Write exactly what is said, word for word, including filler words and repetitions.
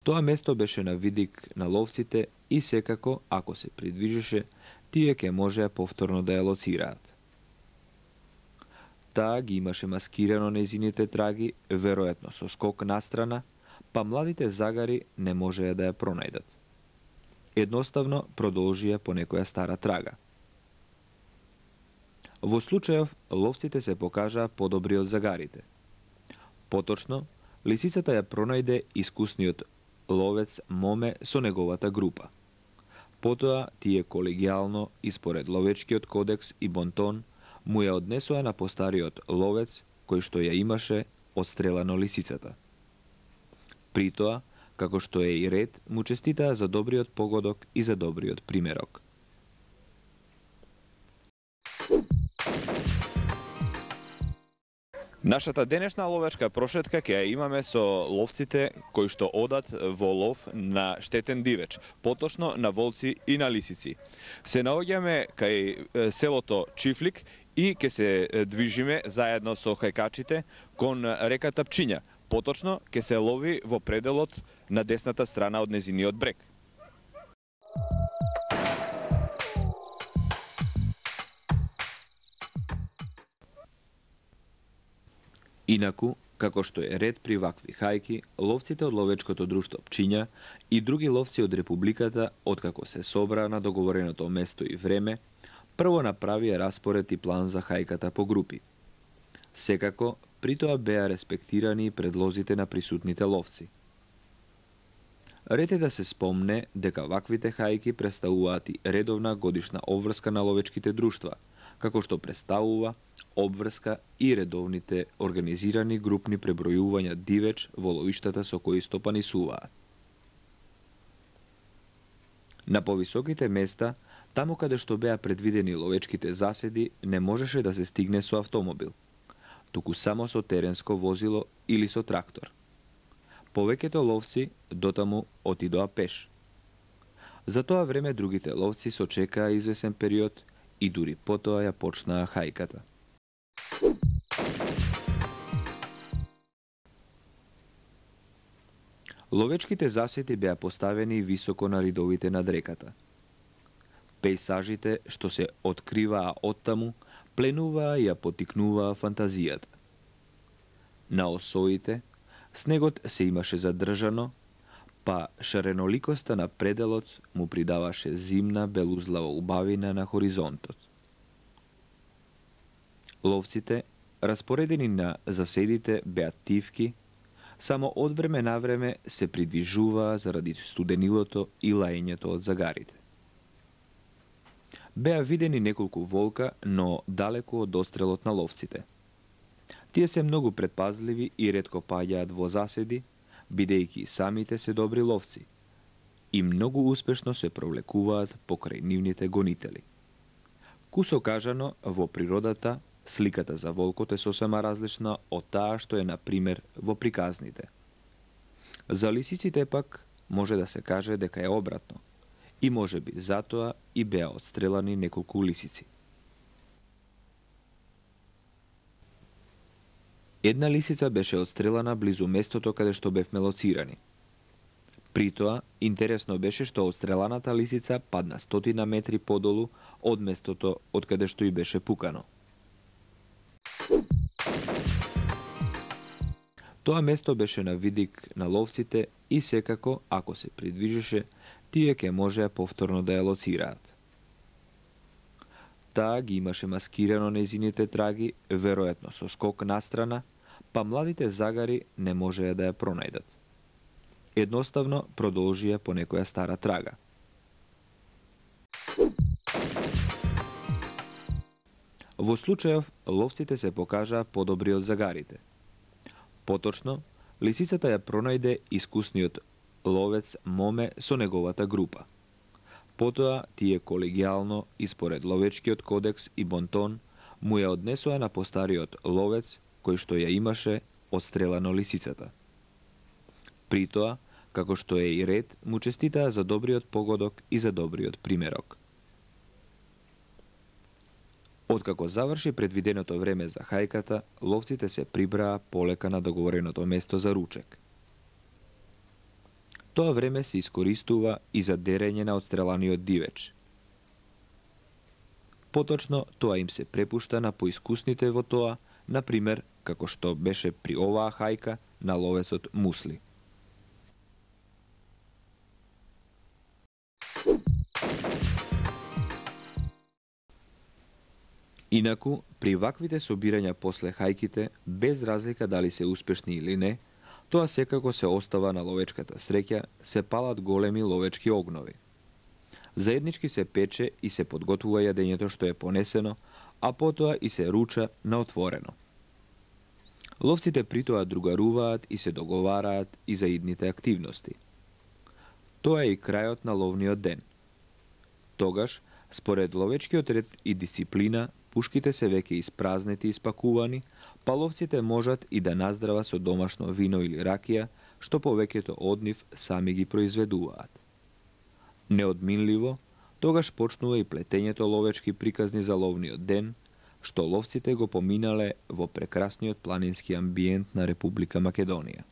Тоа место беше на видик на ловците и секако, ако се придвижеше, тие ќе можеа повторно да ја лоцираат. Таа ги имаше маскирано нејзините траги, веројатно со скок настрана, па младите загари не можеа да ја пронајдат. Едноставно продолжија по некоја стара трага. Во случајов, ловците се покажаа подобри од загарите. Поточно, лисицата ја пронајде искусниот ловец Моме со неговата група. Потоа, тие колегијално, испоред ловечкиот кодекс и бонтон, му ја однесоа на постариот ловец, кој што ја имаше одстрелано лисицата. При тоа, како што е и ред, му честитаа за добриот погодок и за добриот примерок. Нашата денешна ловечка прошетка ќе ја имаме со ловците кои што одат во лов на штетен дивеч, поточно на волци и на лисици. Се наоѓаме кај селото Чифлик и ќе се движиме заедно со хајкачите кон реката Пчиња. Поточно ќе се лови во пределот на десната страна од незиниот брег. Инаку, како што е ред при вакви хајки, ловците од ловечкото друштво Пчиња и други ловци од Републиката, откако се собраа на договореното место и време, прво направија распоред и план за хајката по групи. Секако, при тоа беа респектирани предлозите на присутните ловци. Ред е да се спомне дека ваквите хајки представуваат и редовна годишна обврска на ловечките друштва, како што представува обврска и редовните организирани групни пребројувања дивеч во ловиштата со кои стопанисуваат. На повисоките места, таму каде што беа предвидени ловечките заседи, не можеше да се стигне со автомобил, туку само со теренско возило или со трактор. Повеќето ловци дотаму отидоа пеш. За тоа време другите ловци сочекаа извесен период и дури потоа ја почнаа хајката. Ловечките заседи беа поставени високо на ридовите над реката. Пејсажите што се откриваа оттаму, пленуваа и ја потикнуваа фантазијата. На осоите, снегот се имаше задржано, па шареноликоста на пределот му придаваше зимна белузлава убавина на хоризонтот. Ловците, распоредени на заседите, беа тивки, само од време на време се придвижуваа заради студенилото и лаењето од загарите. Беа видени неколку волка, но далеку од дострелот на ловците. Тие се многу предпазливи и ретко паѓаат во заседи, бидејќи самите се добри ловци и многу успешно се провлекуваат покрај нивните гонители. Кусо кажано, во природата, сликата за волкот е сосема различна од таа што е, на пример, во приказните. За лисиците пак може да се каже дека е обратно, и може би затоа и беа одстрелани неколку лисици. Една лисица беше одстрелана близу местото каде што бевме лоцирани. При тоа, интересно беше што одстреланата лисица падна стотина метри подолу од местото од каде што и беше пукано. Тоа место беше на видик на ловците и секако, ако се придвижеше, тие ќе можеа повторно да ја лоцираат. Таа ги имаше маскирано нејзините траги, веројатно со скок настрана, па младите загари не можеа да ја пронајдат. Едноставно продолжија по некоја стара трага. Во случајов, ловците се покажаа подобри од загарите. Поточно, лисицата ја пронајде искусниот ловец Моме со неговата група. Потоа, тие колегијално, испоред ловечкиот кодекс и бонтон, му ја однесоа на постариот ловец, кој што ја имаше одстрелано лисицата. При тоа, како што е и ред, му честитаа за добриот погодок и за добриот примерок. Откако заврши предвиденото време за хајката, ловците се прибраа полека на договореното место за ручек. Тоа време се искористува и за дерење на отстреланиот дивеч. Поточно, тоа им се препушта на поискусните во тоа, на пример, како што беше при оваа хајка на ловецот Мусли. Инаку, при ваквите собирања после хајките, без разлика дали се успешни или не, тоа секако се остава на ловечката среќа, се палат големи ловечки огнови. Заеднички се пече и се подготвува јадењето што е понесено, а потоа и се руча на отворено. Ловците при тоа другаруваат и се договараат и за идните активности. Тоа е и крајот на ловниот ден. Тогаш, според ловечкиот ред и дисциплина, пушките се веќе испразнети и испакувани, па ловците можат и да наздрават со домашно вино или ракија, што повеќето од нив сами ги произведуваат. Неодминливо, тогаш почнува и плетењето ловечки приказни за ловниот ден, што ловците го поминале во прекрасниот планински амбиент на Република Македонија.